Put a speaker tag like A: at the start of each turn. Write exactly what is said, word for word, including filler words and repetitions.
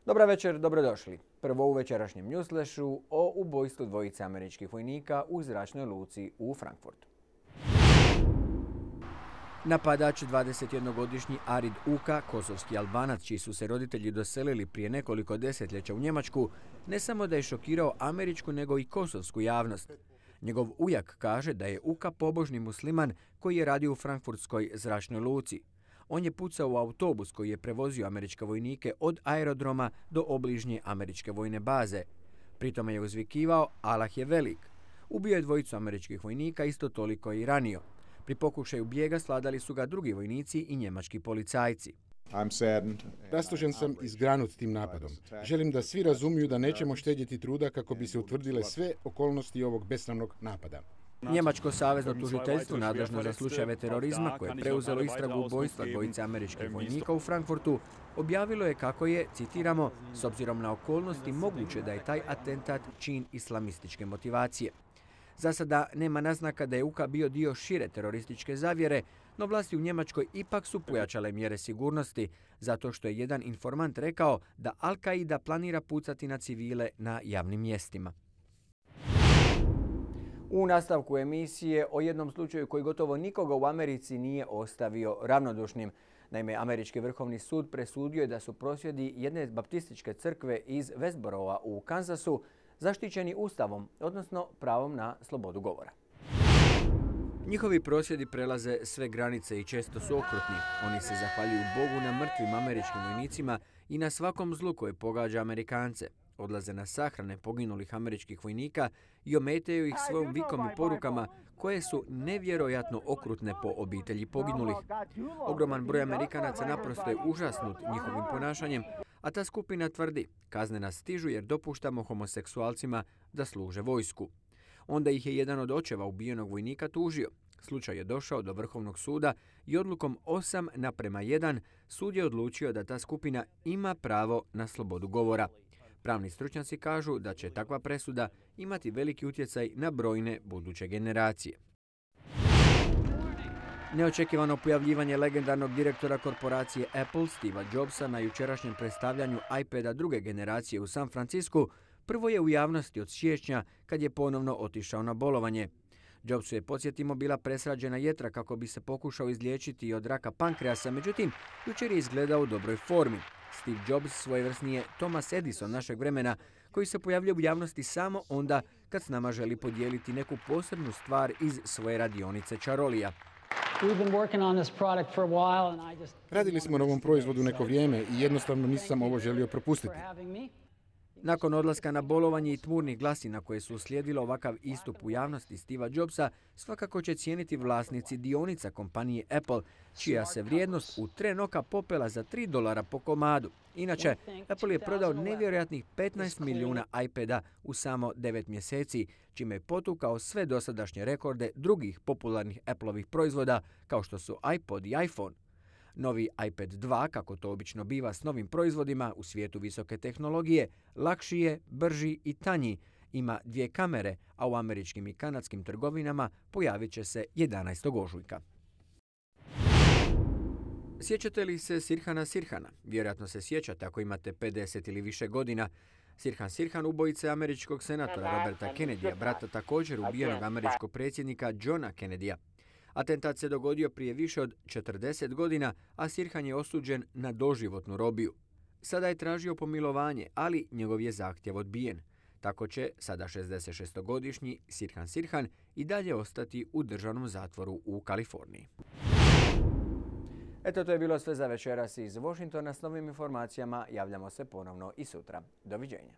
A: Dobra večer, dobrodošli. Prvo u večerašnjem newsflashu o ubojstvu dvojice američkih vojnika u zračnoj luci u Frankfurtu. Napadač, dvadesetjednogodišnji Arid Uka, kosovski Albanac čiji su se roditelji doselili prije nekoliko desetljeća u Njemačku, ne samo da je šokirao američku nego i kosovsku javnost. Njegov ujak kaže da je Uka pobožni musliman koji je radio u frankfurtskoj zračnoj luci. On je pucao u autobus koji je prevozio američke vojnike od aerodroma do obližnje američke vojne baze. Pritome je uzvikivao "Allah je velik". Ubio je dvojicu američkih vojnika, isto toliko je i ranio. Pri pokušaju bijega sladali su ga drugi vojnici i njemački policajci.
B: Rastužen sam i zgranut tim napadom. Želim da svi razumiju da nećemo štedjeti truda kako bi se utvrdile sve okolnosti ovog besramnog napada.
A: Njemačko savezno tužiteljstvo nadležno za slučajeve terorizma, koje je preuzelo istragu ubojstva dvojice američkih vojnika u Frankfurtu, objavilo je kako je, citiramo, s obzirom na okolnosti moguće da je taj atentat čin islamističke motivacije. Za sada nema naznaka da je Uka bio dio šire terorističke zavjere, no vlasti u Njemačkoj ipak su pojačale mjere sigurnosti, zato što je jedan informant rekao da Al-Qaida planira pucati na civile na javnim mjestima. U nastavku emisije o jednom slučaju koji gotovo nikoga u Americi nije ostavio ravnodušnim. Naime, američki vrhovni sud presudio je da su prosvjedi jedne baptističke crkve iz Westborougha u Kansasu zaštićeni ustavom, odnosno pravom na slobodu govora. Njihovi prosvjedi prelaze sve granice i često su okrutni. Oni se zahvaljuju Bogu na mrtvim američkim vojnicima i na svakom zlu koje pogađa Amerikance. Odlaze na sahrane poginulih američkih vojnika i ometaju ih svojom vikom i porukama koje su nevjerojatno okrutne po obitelji poginulih. Ogroman broj Amerikanaca naprosto je užasnut njihovim ponašanjem, a ta skupina tvrdi: kazne nas stižu jer dopuštamo homoseksualcima da služe vojsku. Onda ih je jedan od očeva ubijenog vojnika tužio. Slučaj je došao do Vrhovnog suda i odlukom osam naprema jedan sud je odlučio da ta skupina ima pravo na slobodu govora. Pravni stručnjaci kažu da će takva presuda imati veliki utjecaj na brojne buduće generacije. Neočekivano pojavljivanje legendarnog direktora korporacije Apple, Steva Jobsa, na jučerašnjem predstavljanju iPada druge generacije u San Francisku prvo je u javnosti od siječnja kad je ponovno otišao na bolovanje. Jobsu je, podsjetimo, bila presrađena jetra kako bi se pokušao izliječiti od raka pankreasa, međutim, jučer je izgledao u dobroj formi. Steve Jobs svojevrsni je Thomas Edison našeg vremena, koji se pojavlja u javnosti samo onda kad s nama želi podijeliti neku posebnu stvar iz svoje radionice čarolija.
B: Radili smo na ovom proizvodu neko vrijeme i jednostavno nisam ovo želio propustiti.
A: Nakon odlaska na bolovanje i tmurnih glasina koje su uslijedilo ovakav istup u javnosti Steva Jobsa, svakako će cijeniti vlasnici dionica kompanije Apple, čija se vrijednost u tren oka popela za tri dolara po komadu. Inače, Apple je prodao nevjerojatnih petnaest milijuna iPada u samo devet mjeseci, čime je potukao sve dosadašnje rekorde drugih popularnih Appleovih proizvoda, kao što su iPod i iPhone. Novi iPad dva, kako to obično biva s novim proizvodima u svijetu visoke tehnologije, lakši je, brži i tanji, ima dvije kamere, a u američkim i kanadskim trgovinama pojavit će se jedanaestog ožujka. Sjećate li se Sirhana Sirhana? Vjerojatno se sjećate ako imate pedeset ili više godina. Sirhan Sirhan, ubojice američkog senatora Roberta Kennedya, brata također ubijenog američkog predsjednika Johna Kennedya. Atentat se dogodio prije više od četrdeset godina, a Sirhan je osuđen na doživotnu robiju. Sada je tražio pomilovanje, ali njegov je zahtjev odbijen. Tako će sada šezdesetšestogodišnji Sirhan Sirhan i dalje ostati u državnom zatvoru u Kaliforniji. Eto, to je bilo sve za večeras iz Washingtona. S novim informacijama javljamo se ponovno i sutra. Doviđenja.